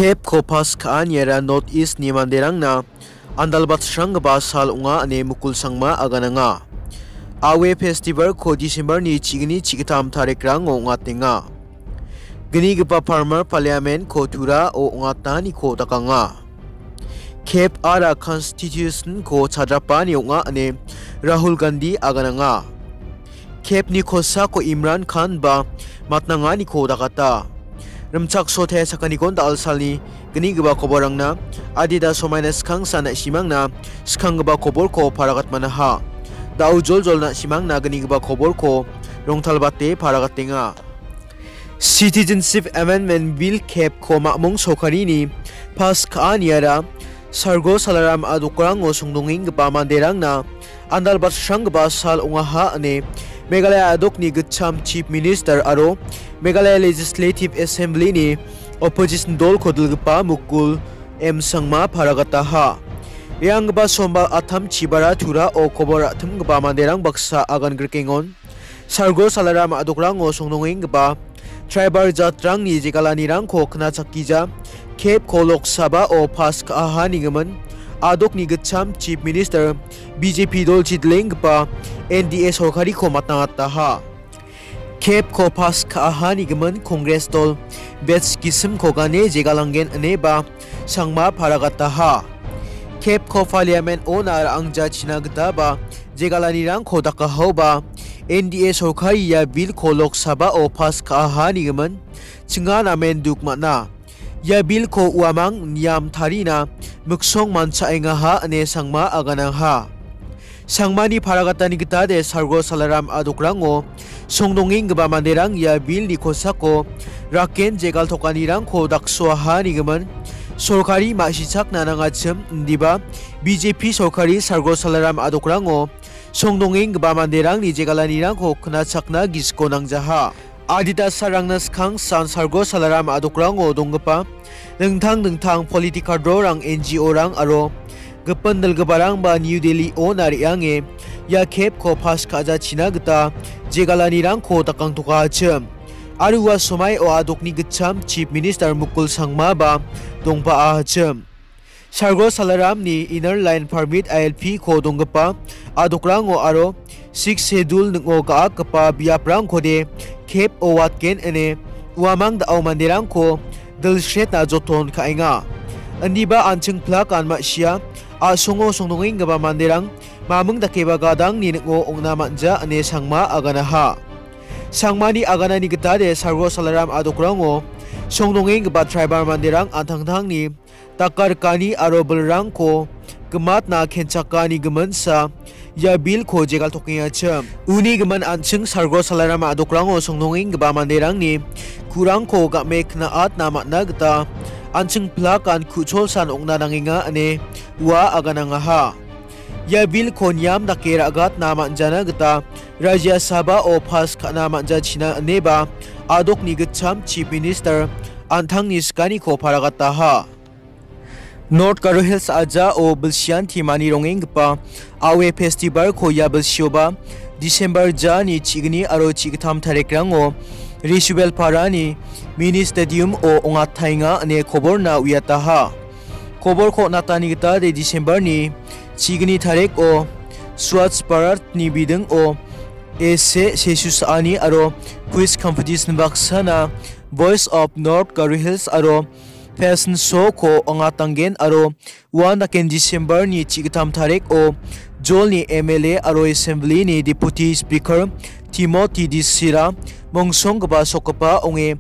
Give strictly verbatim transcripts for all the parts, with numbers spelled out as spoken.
Kep ko pas ka·aniara North East-ni manderangna andalbatsranggipa sal ong·a ine Mukul Sangma agananga. Awe Festival-ko December-ni chigni chigittam tarikrango ong·atenga. Gnigipa Farmer Parliament-ko Turao ong·ataniko dakanga. Kep ara Constitution-ko chadrapani ong·a ine Rahul Gandhi agananga. Kep-ni kosako Imran Khan ba matnanganiko dakata. Rimchaksote sakanikon da·alsalni gnigipa koborrangna adita somaina skangsan na·simangna skanggipa koborko paragatmanaha. Da·o joljol na·simangna gnigipa koborko rongtalbate paragatenga. Citizenship Amendment Bill kep ko mamung sorkarini pas ka·aniara Sargo Salaram a·dokrango songdongenggipa manderangna andalbatsranggipa sal ong·aha ine Meghalaya a·dokni gitcham Chief Minister aro Meghalaya Legislative Assembly-ni opposition dolko dilgipa Mukul M Sangma paragataha. Re·anggipa Sombal attam chibara Turao kobor ra·timgipa manderang baksa agan grikengon Sargo Salaram a·dokrango songdongenggipa tribal jatrangni jegalanirangko knachakgija kep ko Lok Sabha-o pas ka·aha nigimin a·dokni gitcham Chief Minister B J P dol chidilenggipa N D A sorkariko matnangataha. Kep ko pas ka·aha nigimin Congress dol batch gisimko gane jegalanggen ineba Sangma paragataha. Kep ko Parliament-ona ra·angjachina gitaba jegalanirangko dakahaoba N D A sorkari ia bill-ko Lok Sabha-o pas ka·aha nigimin chinga namen duk man·a. Ia bill-ko uamang niam tarina miksong mancha·engaha ine Sangma aganangha. Sangmani paragatani gitade Sargo Salaram a·dokrango songdongenggipa manderang ia bill-ni kosako raken jegaltokanirangko daksoaha nigimin sorkari ma·sichakna nangachim indiba B J P sorkari Sargo Salaram a·dokrango songdongenggipa manderangni jegalanirangko knachakna gisiko nangjaha. Adita salrangna skang san Sargo Salaram a·dokrango donggipa dingtang dingtang political rorang, N G O-rang aro gipin dilgiparangba New Delhi-ona re·ange ia kep ko pas ka·jachina gita jegalanirangko dakangtokachim. Aro ua somaio a·dokni gitcham Chief Minister Mukul Sangmaba dongpa·achim. Sargo Salaramni Inner Line Permit, I L P, ko donggipa a·dokrango aro Sixth Schedule ning·o ga·akgipa biaprangkode kep-o watgen ine uamang da·o manderangko dilsretna joton ka·enga. Indiba an·ching plakan ma·sia a·songo songdongenggipa manderang maming dakeba gadangni ning·o ong·na man·ja ine Sangma aganaha. Sangmani aganani gitade Sargo Salaram a·dokrango songdongenggipa tribal manderang an·tangtangni dakarikani aro bilrangko gimatna kenchakani giminsa ia bill-ko jegaltokengachim. Uni gimin an·ching Sargo Salaram a·dokrango songdongenggipa manderangni ku·rangko game kna·atna man·a gita an·ching plakan ku·cholsan ong·na nangenga ine ua aganangaha. Ia bill-ko niam dake ra·gatna man·jana gita Rajya Sabha-o pas ka·na man·jachina ineba a·dokni gitcham Chief Minister an·tangni sikaniko paragataha. North Garo Hills ajao bilsianti mani rongenggipa Awe Festival-ko ia bilsioba December jani chigni aro chigittam tarikrango Risuel Parani Mini Stadium-o ong·ataenga ine koborna uiataha. Koborko on·atani gita de December-ni chigni tariko Swachh Bharat-ni bidingo ese sesu sa·ani aro quiz competition baksana Voice of North Garo Hills aro Fashion Show-ko ong·atanggen aro uan daken December-ni chigittam tariko Jolni M L A aro Assembly-ni Deputy Speaker Timothy Disira mongsonggipa sokgipa ong·e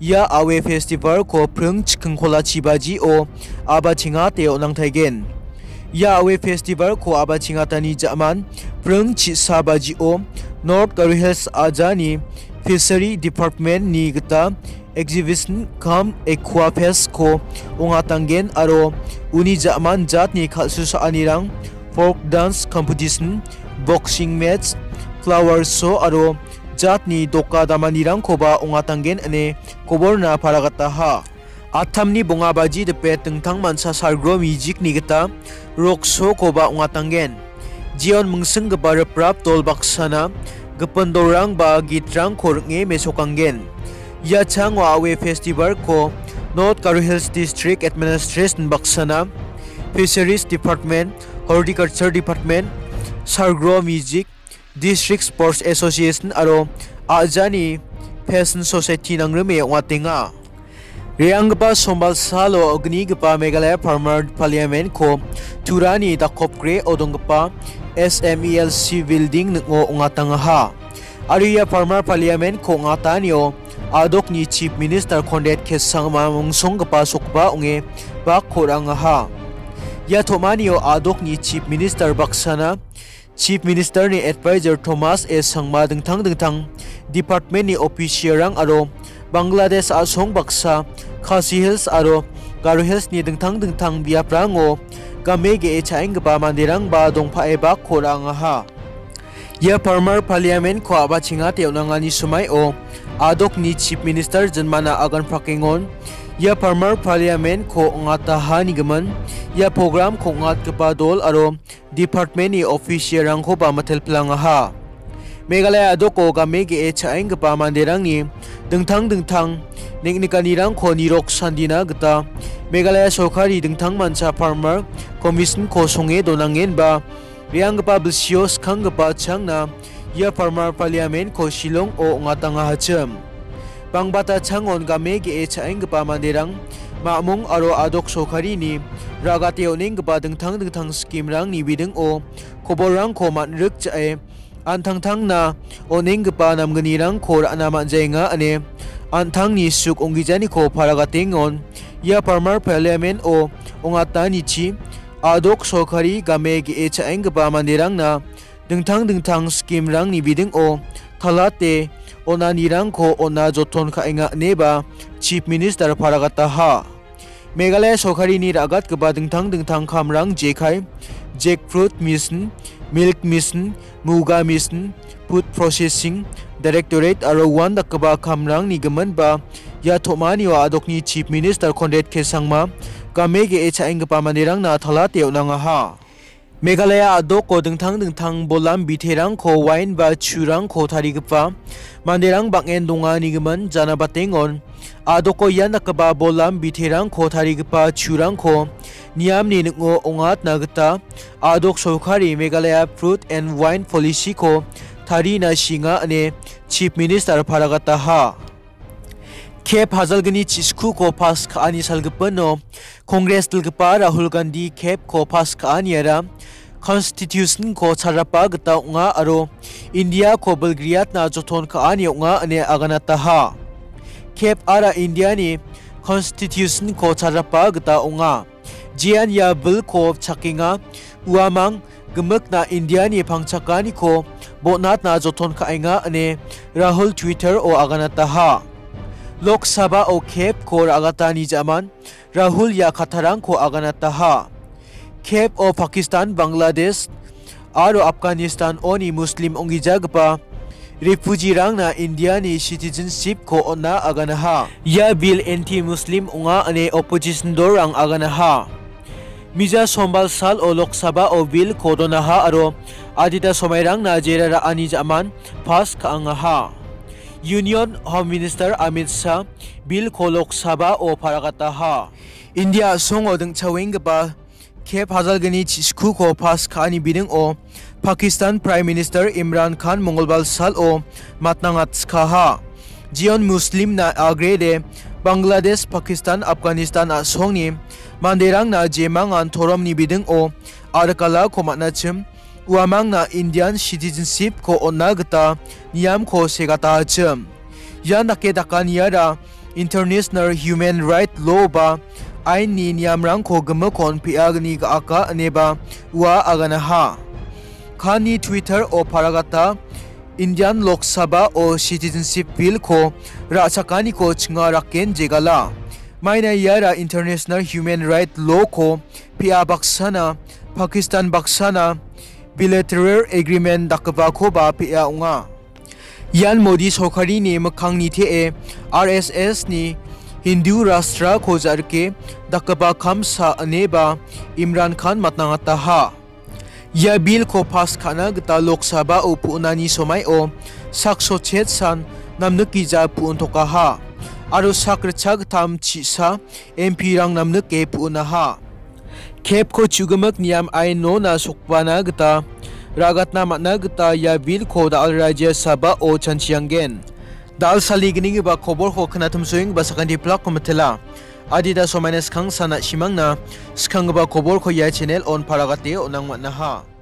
ia Awe Festival-ko pring chikingkola chibajio abachengate on·angtaigen. Ia Awe Festival-ko abachengatani ja·man pring chisa bajio North Garo Hills ajani Fishery Department-ni gita Exhibition cum Aqua Fest-ko ong·atanggen aro uni ja·man jatni kal·susaanirang, folk dance competition, boxing match, flower show aro jatni doka damanirangkoba ong·atanggen ine koborna paragataha. Attamni bonga baji dipet dingtang mancha salgro music-ni gita rock show-koba ong·atanggen. Jeon mingsinggipa riprap dol baksana gipin dolrang ba gitrangko ring·e mesokanggen. Ia chango Awe Festival-ko North Garo Hills District Administration baksana, Fisheries Department, Horticulture Department, Sargro Music, District Sports Association aro a·jani Fashion Society nangrime ong·atenga. Re·anggipa Sombal salo gnigipa Meghalaya Farmer Parliament-ko Turani dakopgreo donggipa S M E L C building ning·o ong·atangaha. Aro ia Farmer Parliament-ko ong·atanio a·dokni Chief Minister Conrad K Sangma mungsonggipa sokba ong·e bakko ra·angaha. Ia tom·anio a·dokni Chief Minister baksana, Chief Minister-ni advisor Thomas A Sangma dingtang dingtang department-ni official-rang aro Bangladesh a·song baksa Khasi Hills aro Garo Hills-ni dingtang dingtang biaprango game ge·e cha·enggipa manderangba dongpae bakko ra·angaha. Ia Farmer Parliament-ko a·bachengate on·angani somaio a·dokni Chief Minister jinmana agan prakengon. Ia Farmer Parliament-ko ong·ataha nigimin, ia program-ko ong·atgipa dol aro department-ni official-rangkoba mitelpilangaha. Meghalaya a·doko game ge·e cha·enggipa manderangni dingtang dingtang neng·nikanirangko nirok sandina gita Meghalaya sorkari dingtangmancha Farmer Commission-ko songe donangenba re·anggipa bilsio skanggipa changna ia Farmer Parliament-ko Shillong-o ong·atangahachim. Bangbata changon game ge·e cha·enggipa manderang, mamung aro a·dok sorkarini ra·gate on·enggipa dingtang dingtang scheme-rangni bidingo koborrangko man·rik ja·e an·tangtangna on·enggipa namgnirangko ra·na man·jaenga ine an·tangni suk ong·gijaniko paragatengon ia Farmer Parliament-o ong·atanichi a·dok sorkari game ge·e cha·enggipa manderangna dingtang dingtang scheme-rangni bidingo talate on·anirangko on·na joton ka·enga ineba Chief Minister paragataha. Meghalaya sorkarini ra·gatgipa dingtang dingtang kamrang jekai, jackfruit mission, milk mission, muga mission, food processing directorate aro uandakgipa kamrangni giminba ia tom·anio a·dokni Chief Minister Conrad K Sangma game ge·e cha·enggipa manderangna talate on·angaha. Meghalaya a·doko dingtang dingtang bolam biterangko wain ba churangko tarigipa manderang bang·en donga nigimin janabatengon. A·doko ian dakgipa bolam biterangko tarigipa churangko niamni ning·o ong·atna gita a·dok sorkari Meghalaya Fruit and Wine Policy-ko tarina shinga ine Chief Minister paragataha. Kep hajalgni chiskuko pas ka·ani salgipino Congress dilgipa Rahul Gandhi kepko pas ka·aniara Constitution-ko charapa gita ong·a aro India-ko bilgriatna joton ka·ani ong·a ine aganataha. Kep ara India-ni Constitution-ko charapa gita ong·a. Jean ia bilko chakenga, uamang gimikna Indiani pangchakaniko bonatna joton ka·enga ine Rahul Twitter-o aganataha. Lok Sabha-o kepko ra·gatani ja·man Rahul ia kattarangko aganataha. Kep-o Pakistan, Bangladesh aro Afghanistan-oni Muslim ong·gijagipa refugee-rangna Indiani citizenship-ko on·na aganaha. Ia bill anti-Muslim ong·a ine opposition dolrang aganaha. Mija Sombal salo Lok Sabha-o bill-ko donaha aro adita somairangna jera ra·ani ja·man pass ka·angaha. Union Home Minister Amit Shah bill-ko Lok Sabha-o paragataha. India a·songo dingchawenggipa kep hajalgni chiskuko pass ka·ani biningo Pakistan Prime Minister Imran Khan Mongolbar salo matnangatskaha. Jeon Muslimna agrede Bangladesh, Pakistan, Afghanistan a·songni manderangna jemangan toromni biningo arikalako man·achim, uamangna Indian citizenship-ko on·na gita niamko segatachim. Ian dake dakaniara International Human Right Law ba ainni niamrangko gimikon pe·agni ga·aka ineba ua aganaha. Kani Twitter-o paragata Indian Lok Sabha-o citizenship bill-ko ra·chakaniko chinga raken jegala. Maina iara International Human Right Law-ko pe·a baksana, Pakistan baksana bilateral agreement dakgipakoba pe·a ong·a. Ian Modi sorkarini mikkangni te·e R S S-ni Hindu Rashtra-ko ja·rike dakgipa kamsa ineba Imran Khan matnangataha. Ia bill-ko pass ka·na gita Lok Sabha-o pu·nani somaio sakso chetsan namnikgija pu·ontokaha. aro sak ritchagittam chisa M P-rang namnike pu·naha. Kepko chu·gimik niam ainona sokbana gita ra·gatna man·a gita ia bilko da·al raja sabao chanchianggen. Da·al saligninggipa koborko knatimsoenggipa sakanti plakko mitela. Adita somaina skang sana simangna skanggipa koborko ia channel-on paragate on·ang man·aha.